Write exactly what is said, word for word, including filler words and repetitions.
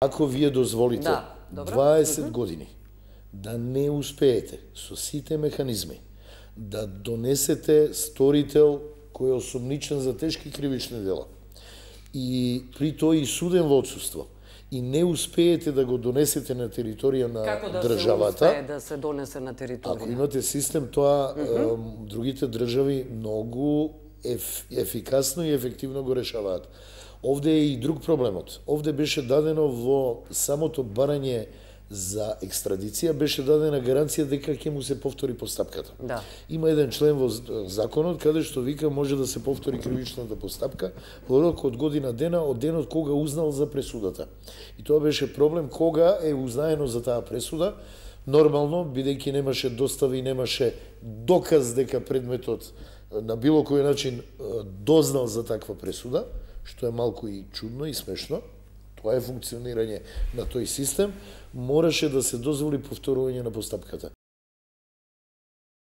Ако вие дозволите Да, добро. дваесет години да не успеете со сите механизми да донесете сторител кој е осомничен за тешки кривични дела и при тоа и суден во отсуство, и не успеете да го донесете на територија на Како да државата, се успее да се донесе на територија? ако имате систем, тоа mm -hmm. другите држави многу еф, ефикасно и ефективно го решаваат. Овде е и друг проблемот. Овде беше дадено во самото барање за екстрадиција, беше дадена гаранција дека ќе му се повтори постапката. Да. Има еден член во законот каде што вика може да се повтори кривичната постапка во рок од година дена од денот кога узнал за пресудата. И тоа беше проблем кога е узнаено за таа пресуда. Нормално, бидејќи немаше достави и немаше доказ дека предметот на било кој начин дознал за таква пресуда, што е малку и чудно и смешно, тоа е функционирање на тој систем, мораше да се дозволи повторување на постапката.